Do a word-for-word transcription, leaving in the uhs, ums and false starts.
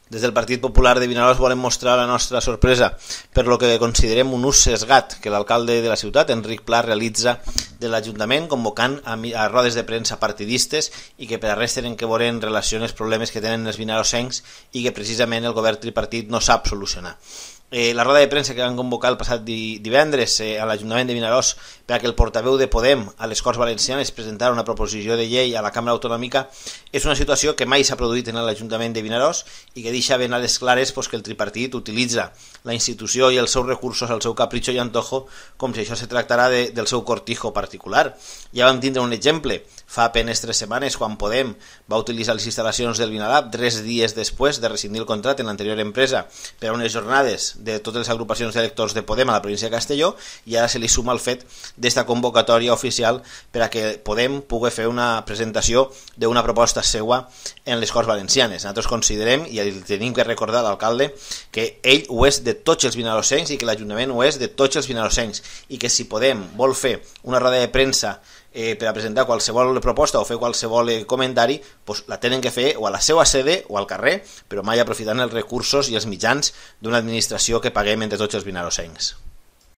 Des del Partit Popular de Vinaròs volem mostrar la nostra sorpresa per lo que considerem un ús sesgat que l'alcalde de la ciutat, Enric Pla, realitza de l'Ajuntament convocant a, a rodes de premsa partidistes i que per a res tenen que veure en relació als problemes que tenen els vinarossencs i que precisament el govern tripartit no sap solucionar. Eh, la roda de premsa que van convocar el passat di divendres eh, a l'Ajuntament de Vinaròs per a que el portaveu de Podem a les Corts Valencianes presentara una proposició de llei a la Cambra Autonòmica és una situació que mai s'ha produït en l'Ajuntament de Vinaròs i que deixa ben a les clares pues, que el tripartit utilitza la institució i els seus recursos al seu capritxo i antojo com si això se tractarà de, del seu cortijo particular. Ja vam tindre un exemple fa apenes tres setmanes quan Podem va utilitzar les instal·lacions del Vinalab tres dies després de rescindir el contracte en l'anterior empresa per a unes jornades de totes les agrupacions d'electors de Podem a la província de Castelló, i ara se li suma el fet d'esta convocatòria oficial per a que Podem pugui fer una presentació d'una proposta seua en les Corts Valencianes. Nosaltres considerem, i tenim que recordar a l'alcalde, que ell ho és de tots els vinarossencs i que l'Ajuntament ho és de tots els vinarossencs, i que si Podem vol fer una roda de premsa Eh, per a presentar qualsevol proposta o fer qualsevol eh, comentari, pues la tenen que fer o a la seva sede o al carrer, però mai aprofitant els recursos i els mitjans d'una administració que paguem entre tots els vinarossencs.